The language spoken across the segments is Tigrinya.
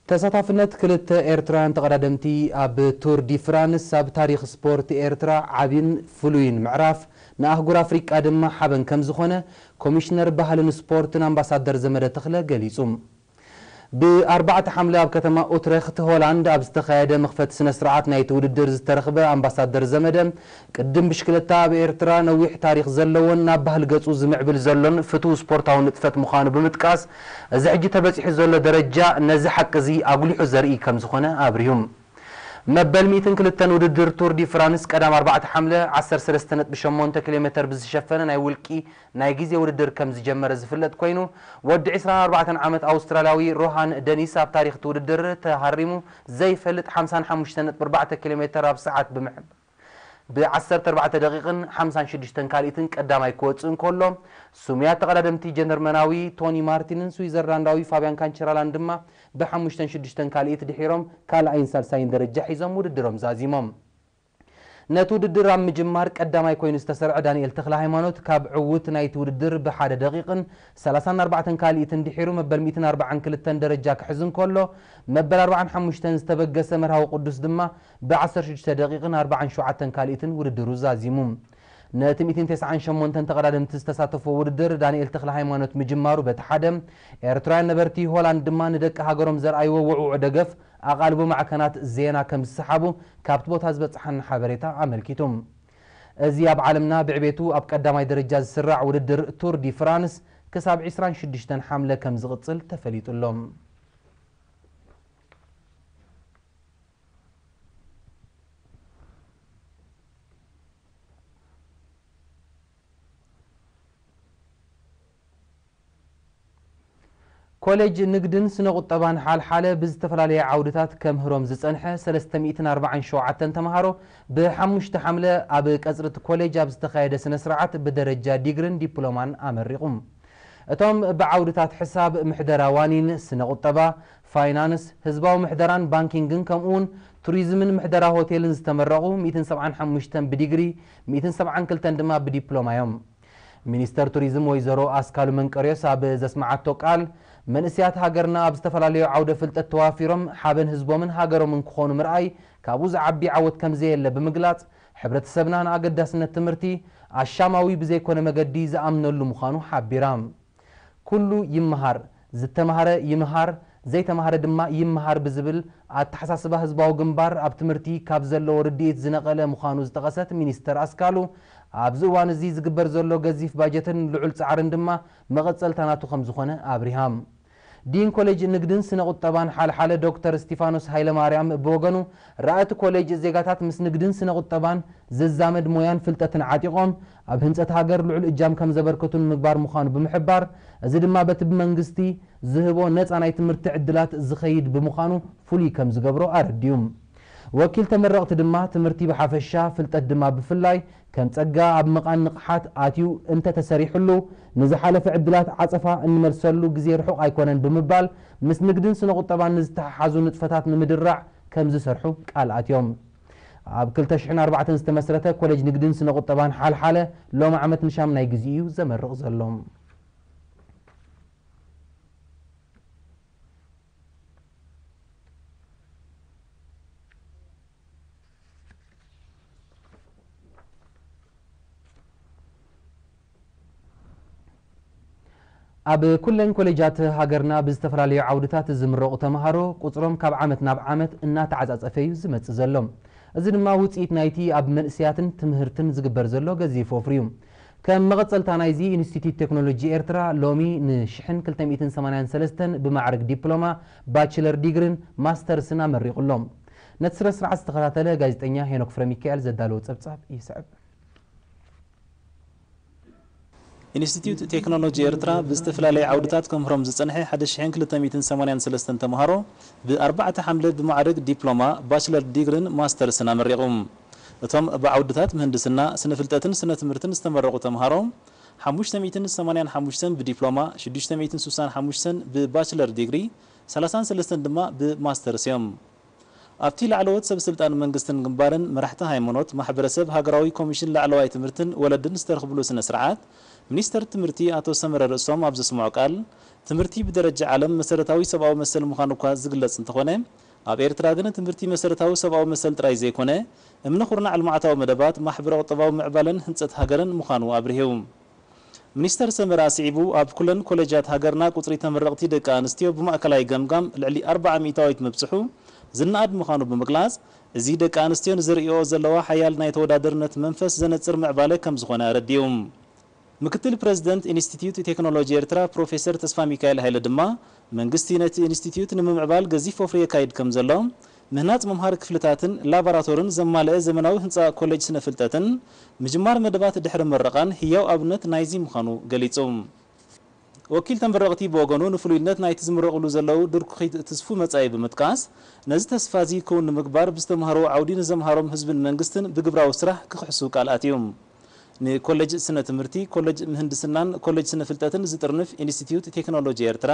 ተሳታፍነት ክልተ ኤርትራውያን ተቐዳደምቲ ኣብ ቱር ዲ ፍራንስ ኣብ ታሪኽ ስፖርት ኤርትራ ዓቢን ፍሉይን ምዕራፍ፣ ንኣህጉር ኣፍሪቃ ድማ ሓበን ከም ዝኾነ ኮሚሽነር ባህልን ስፖርትን ኣምባሳደር ዘመደ ተኽለ ገሊጹ። ብ4 ሓምለ ኣብ ከተማ ኡትረኽት ሆላንድ ኣብ ዝተኻየደ መኽፈቲ ስነ ስርዓት ናይቲ ውድድር ዝተረኽበ ኣምባሳደር ዘመደ፣ ቅድም ብሽክለታ ኣብ ኤርትራ ነዊሕ ታሪኽ ዘለዎን ናብ ባህሊ ገጹ ዝምዕብል ዘሎን ፍቱው ስፖርታዊ ንጥፈት ምዃኑ ብምጥቃስ፣ እዚ ሕጂ ተበጺሑ ዘሎ ደረጃ ነዚ ሓቂ እዚ ኣጉሊሑ ዘርኢ ከም ዝኾነ ኣብሪሁ። መበል ሚእትን ክልተን ውድድር ቱር ዲ ፍራንስ ቀዳም ኣርባዕተ ሓምለ ዓሰርተ ሰለስተ ነጥቢ ሸሞንተ ኪሎ ሜተር ብዝሸፈነ ናይ ውልቂ ናይ ግዜ ውድድር ከም ዝጀመረ ዝፍለጥ ኮይኑ፣ ወዲ ዕስራን ኣርባዕተን ዓመት ኣውስትራልያዊ ሮሃን ደኒስ ኣብ ታሪኽ እቲ ውድድር ተሃሪሙ ዘይፈልጥ ሓምሳን ሓሙሽተን ነጥቢ ኣርባዕተ ኪሎ ሜተር ኣብ ሰዓት ብምሕ-፣ ብ ዓሰርተ ኣርባዕተ ደቂቕን ሓምሳን ሽዱሽተን ካልኢትን ቀዳማይ ክወጽእ እንከሎ፣ ስሙያት ተቐዳደምቲ ጀርመናዊ ቶኒ ማርቲንን ስዊዘርላንዳዊ ፋብያን ካንቸራላን ድማ ብሓሙሽተን ሽዱሽተን ካልኢት ድሒሮም ካልኣይን ሳልሳይን ደረጃ ሒዞም ውድድሮም ዛዚሞም። ነቲ ውድድር ኣብ ምጅማር ቀዳማይ ኮይኑ ዝተሰርዐ ዳንኤል ተኽለ ሃይማኖት ካብ ዕዉት ናይቲ ውድድር ብሓደ ደቂቕን ሰላሳን ኣርባዕተን ካልኢትን ድሒሩ መበል ሚእትን ኣርባዓን ክልተን ደረጃ ክሕዝ እንከሎ፣ መበል ኣርባዓን ሓሙሽተን ዝተበገሰ መርሃዊ ቅዱስ ድማ ብ ዓሰርተ ሽዱሽተ ደቂቕን ኣርባዓን ሸውዓተን ካልኢትን ውድድሩ ዛዚሙ። ነቲ ሚእትን ተስዓን ሸሞንተን ተቐዳደምቲ ዝተሳተፍዎ ውድድር ዳንኤል ተኽለ ሃይማኖት ምጅማሩ በቲ ሓደ፣ ኤርትራውያን ነበርቲ ሆላንድ ድማ ንደቂ ሃገሮም ዘርኣይዎ ውዕዉዕ ደገፍ ኣቓልቦ ማዕከናት ዜና ከም ዝሰሓቡ ካብቲ ቦታ ዝበጽሓና ሓበሬታ ኣመልኪቱ። እዚ ኣብ ዓለምና ብዕቤቱ ኣብ ቀዳማይ ደረጃ ዝስራዕ ውድድር ቱር ዲ ፍራንስ ክሳብ ዕስራን ሽዱሽተን ሓምለ ከም ዝቕጽል ተፈሊጡ ኣሎ። ኮሌጅ ንግድን ስነ ቁጠባን ሓልሓለ ብዝተፈላለየ ዓውድታት ከምህሮም ዝጸንሐ ሰለስተ ሚእትን ኣርባዓን ሸውዓተን ተምሃሮ ብሓሙሽተ ሓምለ ኣብ ቀጽሪ እቲ ኮሌጅ ኣብ ዝተኻየደ ስነ ስርዓት ብደረጃ ዲግሪን ዲፕሎማን ኣመሪቑ። እቶም ብዓውድታት ሕሳብ፣ ምሕደራ ዋኒን፣ ስነ ቁጠባ፣ ፋይናንስ፣ ህዝባዊ ምሕደራን ባንኪንግን ከምኡ እውን ቱሪዝምን ምሕደራ ሆቴልን ዝተመረቑ ሚእትን ሰብዓን ሓሙሽተን ብዲግሪ፣ ሚእትን ሰብዓን ክልተን ድማ ብዲፕሎማ እዮም። ሚኒስተር ቱሪዝም ወይዘሮ ኣስካሉ መንቀርዮስ ኣብ ዘስመዓቶ ቃል፣ መንእሰያት ሃገርና ኣብ ዝተፈላለዩ ዓውደ ፍልጠት ተዋፊሮም ሓበን ህዝቦምን ሃገሮምን ክኾኑ ምርኣይ ካብኡ ዝዓቢ ዓወት ከም ዘየለ ብምግላጽ፣ ሕብረተሰብና ንኣገዳስነት ትምህርቲ ኣሻማዊ ብዘይኮነ መገዲ ዝኣምነሉ ምዃኑ ሓቢራ። ኩሉ ይመሃር፣ ዝተማህረ ይምሃር፣ ዘይተማህረ ድማ ይመሃር ብዝብል ኣተሓሳስባ ህዝባዊ ግንባር ኣብ ትምህርቲ ካብ ዘለዎ ርድኢት ዝነቐለ ምዃኑ ዝጠቐሰት ሚኒስተር ኣስካሉ፣ ኣብዚ እዋን እዚ ዝግበር ዘሎ ገዚፍ ባጀትን ልዑል ጻዕርን ድማ መቐጸልታ ናቱ ከም ዝኾነ ኣብሪሃ። ዲን ኮሌጅ ንግድን ስነ ቁጠባን ሓልሓለ ዶክተር እስቲፋኖስ ሃይለማርያም ብወገኑ፣ ራእቲ ኮሌጅ ዜጋታት ምስ ንግድን ስነ ቁጠባን ዝዛመድ ሞያን ፍልጠትን ዓጢቖም ኣብ ህንጸት ሃገር ልዑል እጃም ከም ዘበርክቱ ንምግባር ምዃኑ ብምሕባር፣ እዚ ድማ በቲ ብመንግስቲ ዝህቦ ነጻ ናይ ትምህርቲ ዕድላት ዝኸይድ ብምዃኑ ፍሉይ ከም ዝገብሮ ኣረዲኡ። ወኪል ተመረቕቲ ድማ ትምህርቲ ብሓፈሻ፣ ፍልጠት ድማ ብፍላይ ከም ጸጋ ኣብ ምቓን ንቕሓት ኣትዩ እንተተሰሪሑሉ፣ ንዝሓለፈ ዕድላት ዓጸፋ እንመልሰሉ ግዜ ርሑቕ ኣይኮነን ብምባል፣ ምስ ንግድን ስነ ቁጠባን ንዝተሓሓዙ ንጥፈታት ንምድራዕ ከም ዝሰርሑ ቃል ኣትዮም። ኣብ ክልተ ሽሕን ኣርባዕተን ዝተመስረተ ኮሌጅ ንግድን ስነ ቁጠባን ሓልሓለ ሎም ዓመት ንሻምናይ ግዜ እዩ ዘመርቕ ዘሎ። ኣብ ኩለን ኮሌጃት ሃገርና ብዝተፈላለዩ ዓውድታት ዝምረቑ ተምሃሮ ቁጽሮም ካብ ዓመት ናብ ዓመት እናተዓጻጸፈ እዩ ዝመጽእ ዘሎ። እዚ ድማ ውጽኢት ናይቲ ኣብ መንእሰያትን ትምህርትን ዝግበር ዘሎ ገዚፍ ወፍሪ እዩ። ከም መቐጸልታ ናይዚ፣ ኢንስቲትዩት ቴክኖሎጂ ኤርትራ ሎሚ ንሽሕን ክልተ ሚእትን ሰማንያን ሰለስተን ብማዕርግ ዲፕሎማ፣ ባችለር ዲግሪን ማስተርስን ኣመሪቑ ኣሎ። ነቲ ስነ ስርዓት ዝተኸታተለ ጋዜጠኛ ሄኖክ ፍረሚካኤል ዘዳለዎ ጸብጻብ ይስዕብ። ኢንስቲትዩት ቴክኖሎጂ ኤርትራ ብዝተፈላለየ ዓውድታት ከምህሮም ዝጸንሐ ሓደ ሽሕን ክልተ ሚእትን ሰማንያን ሰለስተን ተምሃሮ ብኣርባዕተ ሓምለ ብማዕርግ ዲፕሎማ፣ ባችለር ዲግሪን ማስተርስን ኣመሪቑ። እቶም ብዓውድታት ምህንድስና፣ ስነ ፍልጠትን ስነ ትምህርትን ዝተመረቑ ተምሃሮ፣ ሓሙሽተ ሚእትን ሰማንያን ሓሙሽተን ብዲፕሎማ፣ ሽዱሽተ ሚእትን ስሳን ሓሙሽተን ብባችለር ዲግሪ፣ ሰላሳን ሰለስተን ድማ ብማስተርስ እዮም። ኣብቲ ላዕለዎት ሰብ ስልጣን መንግስትን ግንባርን፣ መራሕቲ ሃይማኖት፣ ማሕበረሰብ፣ ሃገራዊ ኮሚሽን ላዕለዋይ ትምህርትን ወለድን ዝተረኽብሉ ስነ ስርዓት፣ ሚኒስተር ትምህርቲ ኣቶ ሰመረ ርእሶም ኣብ ዘስምዖ ቃል፣ ትምህርቲ ብደረጃ ዓለም መሰረታዊ ሰብኣዊ መሰል ምዃኑ እኳ ዝግለጽ እንተኾነ፣ ኣብ ኤርትራ ግን ትምህርቲ መሰረታዊ ሰብኣዊ መሰል ጥራይ ዘይኮነ፣ እምነ ኩርናዕ ልምዓታዊ መደባት፣ ማሕበረ ቁጠባዊ ምዕባለን ህንጸት ሃገርን ምዃኑ ኣብሪሁ። ሚኒስተር ሰመረ ኣስዒቡ፣ ኣብ ኩለን ኮሌጃት ሃገርና ቁጽሪ ተመረቕቲ ደቂ ኣንስትዮ ብማእከላይ ገምጋም ልዕሊ ኣርብዓ ሚእታዊት ምብጽሑ ዝነኣድ ምዃኑ ብምግላጽ፣ እዚ ደቂ ኣንስትዮ ንዘርእይኦ ዘለዋ ሓያል ናይ ተወዳደርነት መንፈስ ዘነጽር ምዕባለ ከም ዝኾነ ኣረዲኡ። ምክትል ፕረዚደንት ኢንስቲትዩት ቴክኖሎጂ ኤርትራ ፕሮፌሰር ተስፋሚካኤል ሃይለ ድማ፣ መንግስቲ ነቲ ኢንስቲትዩት ንምምዕባል ገዚፍ ወፍሪ የካይድ ከም ዘሎ፣ ምህናጽ መምሃሪ ክፍልታትን ላቦራቶርን ዘማልአ ዘመናዊ ህንጻ ኮሌጅ ስነ ፍልጠትን ምጅማር መደባት ድሕሪ ምረቓን ህያው ኣብነት ናይዚ ምዃኑ ገሊጹ። ወኪል ተመረቕቲ ብወገኑ፣ ንፍሉይነት ናይቲ ዝምረቕሉ ዘለዉ ድርኩኺት ትስፉ መጻኢ ብምጥቃስ፣ ነዚ ተስፋ እዚ ክውን ንምግባር ብዝተምሃርዎ ዓውዲ ንዘምሃሮም ህዝብን መንግስትን ብግብራዊ ስራሕ ክኽሕሱ ቃል ኣትዩ። ንኮሌጅ ስነ ትምህርቲ፣ ኮሌጅ ምህንድስናን ኮሌጅ ስነ ፍልጠትን ዝጥርንፍ ኢንስቲትዩት ቴክኖሎጂ ኤርትራ፣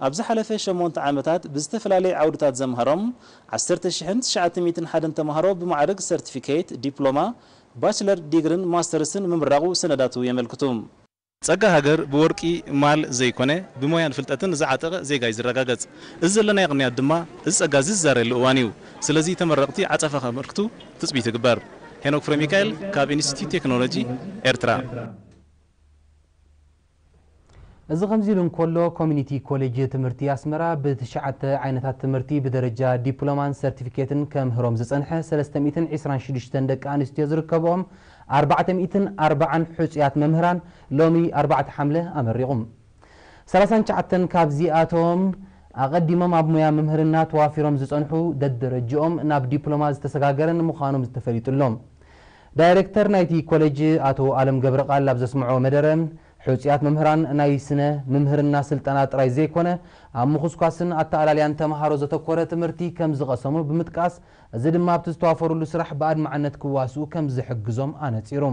ኣብ ዝሓለፈ ሸሞንተ ዓመታት ብዝተፈላለየ ዓውድታት ዘምሃሮም ዓሰርተ ሽሕን ትሽዓተ ሚእትን ሓደን ተምሃሮ ብማዕርግ ሰርቲፊኬት፣ ዲፕሎማ፣ ባችለር ዲግርን ማስተርስን ምምራቑ ሰነዳቱ የመልክቱ። ጸጋ ሃገር ብወርቂ ማል ዘይኮነ፣ ብሞያን ፍልጠትን ዝዓጠቐ ዜጋ እዩ ዝረጋገጽ። እዚ ዘለናዮ ቅንያት ድማ፣ እዚ ጸጋ እዚ ዝዛረየሉ እዋን እዩ። ስለዚ ተመረቕቲ ዓጸፋ ከመልክቱ ትጽቢት ይግበር። ሄኖክ ፍረሚካኤል ካብ ኢንስቲትዩት ቴክኖሎጂ ኤርትራ። እዚ ከምዚ ኢሉ እንከሎ፣ ኮሚኒቲ ኮሌጅ ትምህርቲ ኣስመራ ብትሽዓተ ዓይነታት ትምህርቲ ብደረጃ ዲፕሎማን ሰርቲፊኬትን ከምህሮም ዝጸንሐ ሰለስተ ሚእትን ዕስራን ሽዱሽተን ደቂ ኣንስትዮ ዝርከብኦም ኣርባዕተ ሚእትን ኣርባዓን ሕጹያት መምህራን ሎሚ ኣርባዕተ ሓምለ ኣመሪቑም። ሰላሳን ትሽዓተን ካብዚኣቶም ኣቐዲሞም ኣብ ሞያ መምህርና ተዋፊሮም ዝጸንሑ፣ ደደረጅኦም ናብ ዲፕሎማ ዝተሰጋገረን ምዃኖም ተፈሊጡ ኣሎ። ዳይሬክተር ናይቲ ኮሌጅ ኣቶ ኣለም ገብረቃል ኣብ ዘስምዖ መደረ፣ ሕጹያት መምህራን ናይ ስነ ምምህርና ስልጠና ጥራይ ዘይኮነ፣ ኣብ ምኹስኳስን ኣተኣላልያን ተምሃሮ ዘተኮረ ትምህርቲ ከም ዝቐሰሙ ብምጥቃስ፣ እዚ ድማ ኣብቲ ዝተዋፈሩሉ ስራሕ ብኣድማዕነት ክዋስኡ ከም ዝሕግዞም ኣነጺሩ።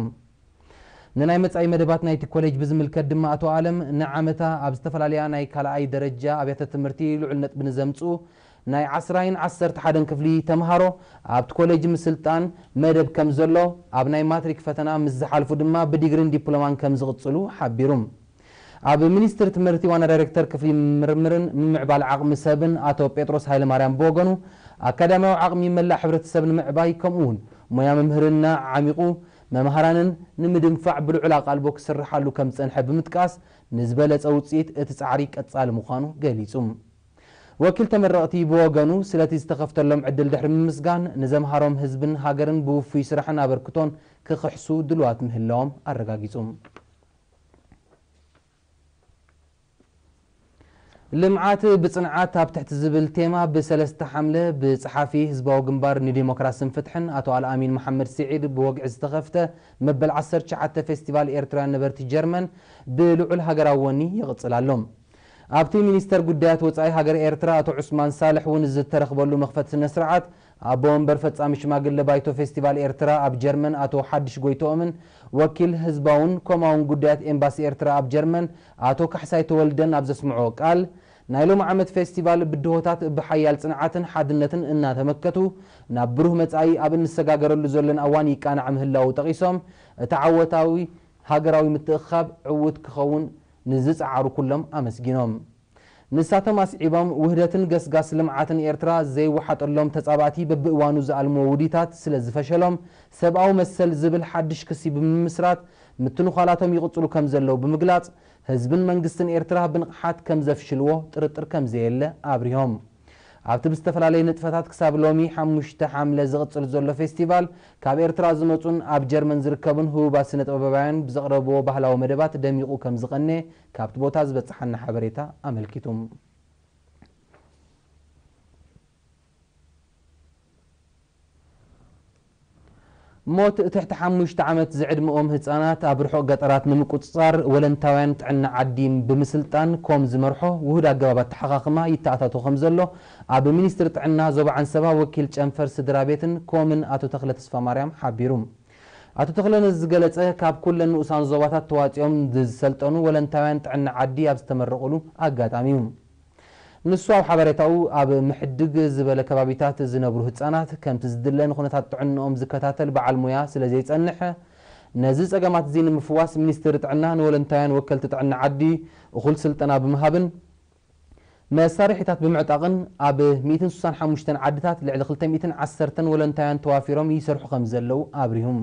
ንናይ መጻኢ መደባት ናይቲ ኮሌጅ ብዝምልከት ድማ ኣቶ ኣለም፣ ንዓመታ ኣብ ዝተፈላለያ ናይ ካልኣይ ደረጃ ኣብያተ ትምህርቲ ልዑል ነጥቢ ንዘምጽኡ ናይ ዓስራይን ዓሰርተ ሓደን ክፍሊ ተምሃሮ ኣብቲ ኮሌጅ ምስልጣን መደብ ከም ዘሎ፣ ኣብ ናይ ማትሪክ ፈተና ምስ ዝሓልፉ ድማ ብዲግሪን ዲፕሎማን ከም ዝቕጽሉ ሓቢሩ። ኣብ ሚኒስትሪ ትምህርቲ ዋና ዳይሬክተር ክፍሊ ምርምርን ምምዕባል ዓቕሚ ሰብን ኣቶ ጴጥሮስ ሃይለማርያም ብወገኑ፣ ኣካዳሚያዊ ዓቕሚ መላእ ሕብረተሰብ ንምዕባይ ከምኡውን ሞያ ምምህርና ዓሚቑ መምሃራንን ንምድንፋዕ ብልዑል ኣቓልቦ ክስርሓሉ ከም ዝጸንሐ ብምጥቃስ፣ ንዝበለጸ ውጽኢት እቲ ጻዕሪ ቀጻሊ ምዃኑ ገሊጹ። ወኪል ተመረቕቲ ብወገኑ፣ ስለቲ ዝተኸፍተሎም ዕድል ድሕሪ ምምስጋን፣ ንዘምሃሮም ህዝብን ሃገርን ብውፉይ ስራሕን ኣበርክቶን ክኽሕሱ ድሉዋት ምህላዎም ኣረጋጊጹ። ልምዓት ብጽንዓት ኣብ ትሕቲ ዝብል ቴማ ብሰለስተ ሓምለ ብጸሓፊ ህዝባዊ ግንባር ንዲሞክራስን ፍትሕን ኣቶ ኣልኣሚን መሓመድ ስዒድ ብወግዒ ዝተኸፍተ መበል ዓሰርተ ትሽዓተ ፌስቲቫል ኤርትራውያን ነበርቲ ጀርመን ብልዑል ሃገራዊ ወኒ ይቕጽል ኣሎ። ኣብቲ ሚኒስተር ጉዳያት ወጻኢ ሃገር ኤርትራ ኣቶ ዑስማን ሳልሕ እውን ዝተረኽበሉ መኽፈቲ ስነ ስርዓት ኣቦ ወንበር ፈጻሚ ሽማግለ ባይቶ ፌስቲቫል ኤርትራ ኣብ ጀርመን ኣቶ ሓድሽ ጎይትኦምን ወኪል ህዝባውን ኮማውን ጉዳያት ኤምባሲ ኤርትራ ኣብ ጀርመን ኣቶ ካሕሳይ ተወልደን ኣብ ዘስምዖ ቃል፣ ናይ ሎም ዓመት ፌስቲቫል ብድሆታት ብሓያል ጽንዓትን ሓድነትን እናተመከቱ ናብ ብሩህ መጻኢ ኣብ እንሰጋገረሉ ዘሎን ኣዋን ይቃናዕ ምህላዉ ጠቒሶም፣ እቲ ዓወታዊ ሃገራዊ ምትእኽኻብ ዕዉት ክኸውን ንዝጸዓሩ ኩሎም ኣመስጊኖም። ንሳቶም ኣስዒቦም፣ ውህደትን ገስጋስ ልምዓትን ኤርትራ ዘይወሓጠሎም ተጻባእቲ በብእዋኑ ዝኣልምዎ ውዲታት ስለ ዝፈሸሎም፣ ሰብኣዊ መሰል ዝብል ሓድሽ ክሲ ብምምስራት ምትንዃላቶም ይቕጽሉ ከም ዘለዉ ብምግላጽ፣ ህዝብን መንግስትን ኤርትራ ብንቕሓት ከም ዘፍሽልዎ ጥርጥር ከም ዘየለ ኣብሪሆም። ኣብቲ ብዝተፈላለየ ንጥፈታት ክሳብ ሎሚ ሓሙሽተ ሓምለ ዝቕጽል ዘሎ ፌስቲቫል፣ ካብ ኤርትራ ዝመጹን ኣብ ጀርመን ዝርከቡን ህቡባት ስነ ጥበባውያን ብዘቕረብዎ ባህላዊ መደባት ደሚቑ ከም ዝቐነየ ካብቲ ቦታ ዝበጽሓና ሓበሬታ ኣመልኪቱ። ሞት ትሕቲ ሓሙሽተ ዓመት ዝዕድመኦም ህጻናት ኣብ ርሑቕ ገጠራት ንምቁጽጻር ወለንታውያን ጥዕና ዓዲ ብምስልጣን ኮም ዝመርሖ ውሁድ ኣገባብ ኣተሓኻኽማ ይተኣታቶ ከም ዘሎ ኣብ ሚኒስትሪ ጥዕና ዞባ ዓንሰባ ወኪል ጨንፈር ስድራ ቤትን ኮምን ኣቶ ተኽለ ተስፋማርያም ሓቢሩ። ኣቶ ተኽለ ነዚ ዝገለጸ ካብ ኩለን ንኡሳን ዞባታት ተዋጺኦም ዝሰልጠኑ ወለንታውያን ጥዕና ዓዲ ኣብ ዝተመረቑሉ ኣጋጣሚ እዩ። ንሱ ኣብ ሓበሬታኡ፣ ኣብ ምሕድግ ዝበለ ከባቢታት ዝነብሩ ህጻናት ከምቲ ዝድለ ንኹነታት ጥዕንኦም ዝከታተል በዓል ሞያ ስለ ዘይጸንሕ፣ ነዚ ጸገማት እዚ ንምፍዋስ ሚኒስትሪ ጥዕና ንወለንታውያን ወከልቲ ጥዕና ዓዲ እኹል ስልጠና ብምሃብን መሳርሒታት ብምዕጣቕን ኣብ ሚእትን ስሳን ሓሙሽተን ዓድታት ልዕሊ ክልተ ሚእትን ዓሰርተን ወለንታውያን ተዋፊሮም ይሰርሑ ከም ዘለዉ ኣብሪሁም።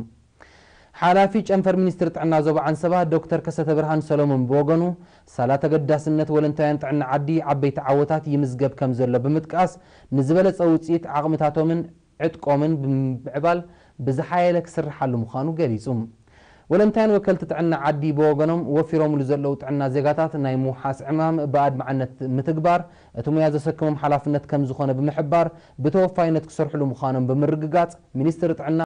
ሓላፊ ጨንፈር ሚኒስትሪ ጥዕና ዞባ ዓንሰባ ዶክተር ከሰተ ብርሃን ሰሎሞን ብወገኑ፣ ሳላ ተገዳስነት ወለንታውያን ጥዕና ዓዲ ዓበይቲ ዓወታት ይምዝገብ ከም ዘሎ ብምጥቃስ፣ ንዝበለጸ ውጽኢት ዓቕምታቶምን ዕጥቆምን ብምምዕባል ብዝሓየለ ክስርሓሉ ምዃኑ ገሊጹ። ወለንታውያን ወከልቲ ጥዕና ዓዲ ብወገኖም፣ ወፊሮምሉ ዘለዉ ጥዕና ዜጋታት ናይ ምውሓስ ዕማም ብኣድማዕነት ምትግባር እቲ ሙያ ዘሰክሞም ሓላፍነት ከም ዝኾነ ብምሕባር፣ ብተወፋይነት ክሰርሕሉ ምዃኖም ብምርግጋጽ፣ ሚኒስትሪ ጥዕና